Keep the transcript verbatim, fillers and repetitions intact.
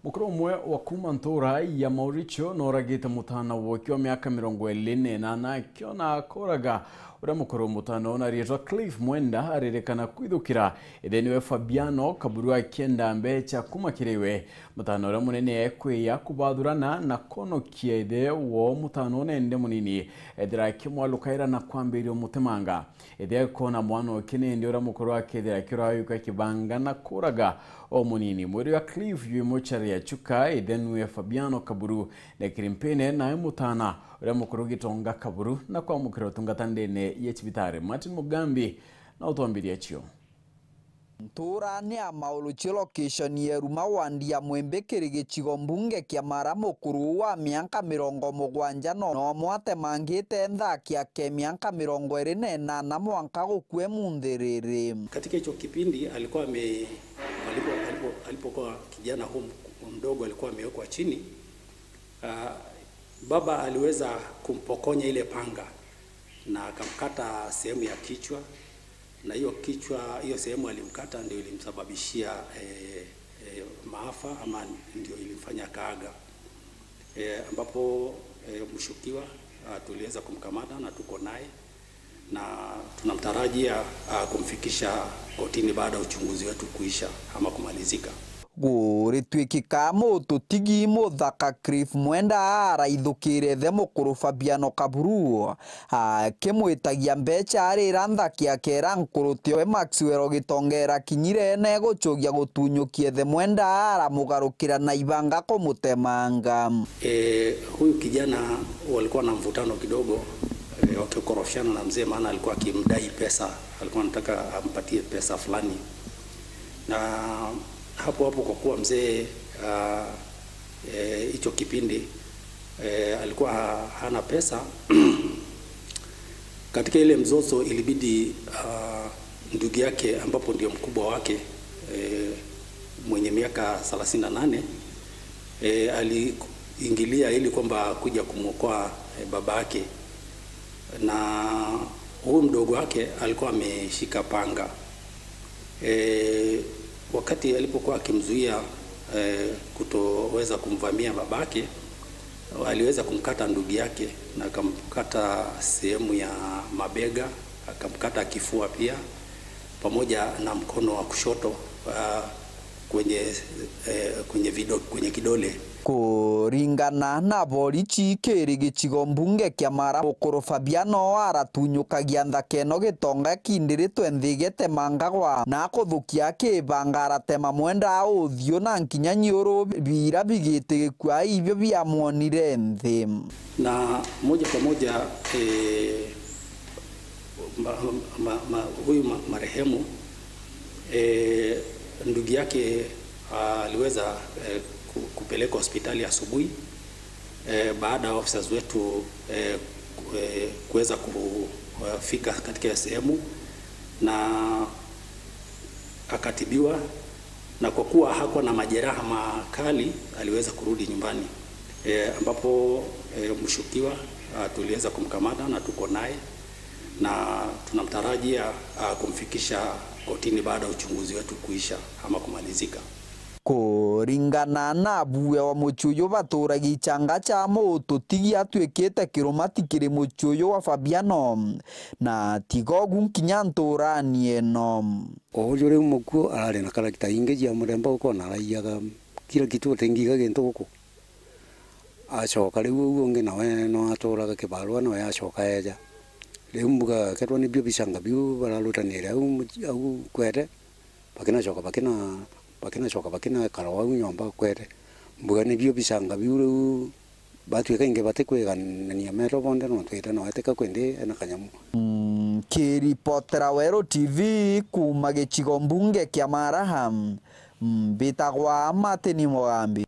Mukuru umwe wa kuuma ntuura ya Mauricio nooragite mutaana wake wa miaka mirongo iiri na inana akiona akoraga uria mukuru. Mutaana uyu na riitwa Cliff Mwenda aririkana kwithukira ithe niwe Fabiano Kaburu akienda mbecha kuuma kiri we. Mutaana uria munene ekwiya kubathurana na kwonokia ithe woo mutaana uyu nende munini ethira akimwalukaira na kwambiria umutemanga. Ithe akoona mwana uki nindi uria mukuru akethira akirayuka kibanga na kuraga o munini. Mwiri wa Cliff yu muchari ya Chuka, ithe niwe Fabiano Kaburu, na kiri mpine nae mutaana uria mukuru Gitonga Kaburu na kwamukira utungata ndene ya cibitari. Martin Mugambi na utwambiria cio. Ntuurani ya Mauluchio, location ya Eruma, wandi ya Mwimbi, kiri gicigo mbunge kia Mara, mukuru uu wa miaka mirongo mugwanja no nomwe atemangite nthaki yake miaka mirongo iiri na inana mwanka gukua imunthi riri. Katika hicho kipindi alikuwa ame-, alipo-, alipo-, alipokuwa kijana huu mk-, mdogo alikuwa amewekwa chini. Ah, baba aliweza kumpokonya ile panga na akamkata sehemu ya kichwa, na hiyo kichwa, hiyo sehemu alimkata ndio ilimsababishia, eh, eh, maafa ama ndio ilimfanya akaaga. Eh, ambapo, eh, mshukiwa, ah, tuliweza kumkamata na tuko naye. Na tunamtarajia, ah, kumfikisha kotini baada ya uchunguzi wetu kuisha ama kumalizika. Guritwikika mututigi muthaka Cliff Mwenda araithukire ithe mukuru Fabiano Kaburu, akimwitagia mbecha arira nthaki yake ira nkuru tioe Maxwell Gitonga irakinyire na igucugia gutunyukia ithe Mwenda aramugarukira na ibanga kumutemanga. Eh, huyu kijana walikuwa na mvutano kidogo, eh, wakikorofishana na mzee, maana alikuwa akimdai pesa, alikuwa anataka ampatie pesa fulani. Na hapo hapo, kwa kuwa mzee, ah, eh, hicho kipindi, eh, alikuwa ha-, hana pesa, katika ile mzozo ilibidi, ah, ndugu yake, ambapo ndio mkubwa wake, eh, mwenye miaka thelathini na nane, eh, aliingilia ili kwamba kuja kumwokoa, eh, babake, na huyu mdogo wake alikuwa ameshika panga. Eh, wakati alipokuwa akimzuia, eh, kutoweza kumvamia babake, aliweza kumkata ndugu yake na akamkata sehemu ya mabega, akamkata kifua pia, pamoja na mkono wa kushoto, ah, kwenye, eh, kwenye vido-, kwenye kidole. Kuringana na borichi, kiri gicigo mbunge kia Mara, mukuru Fabiano aratunyukagia nthaka ino Gitonga kindiritwe nthi getemangagwa na kuthukia kibanga aratema Mwenda uthiu na nkinya nyiuru bira bigitigikua ibio biamwonire nthi. Na moja kwa moja, eh, ma-, ma-, ma-, huyu ma-, marehemu, eh, ndugu yake, ah, aliweza, eh, ku-, kupelekwa hospitali asubuhi, eh, baada ya officers wetu, eh, ku-, eh, kuweza kufika katika hiyo sehemu na akatibiwa, na kwa kuwa hakuwa na majeraha makali, aliweza kurudi nyumbani. Eh, ambapo, eh, mshukiwa, ah, tuliweza kumkamata na tuko naye, na tunamtarajia, ah, kumfikisha kotini baada ya uchunguzi wetu kuisha ama kumalizika. Kuringana na abuwe wa mucii uyu, baturagia ichanga cha mututigi atuikite kirumati kiri mucii uyu wa Fabiano, na tiga ugu nkinya nturani ino. O uju riu mukuu arari na character ingi cia muremba, ukona araiyaga kila kitu, utingiga gintu guku. Acoka riu uu ungi nawe no aturaga kibarua, nawe acoka eeja. Riu mbuga, kethirwa nibio bichanga biu bararutanire au muci-, au kwete, bakinacoka bakina-, bakinacoka bakinekara o au nyomba kwete. Mbuga nibio bichanga biu riu batwika ingi batikwiganania meetwa bonthe, no twite nawe tika kwindi ena kanyamu. Mm, kiripotera Weru T V kuuma gicigo mbunge kia Maraha, mbitagwa Martin Mugambi.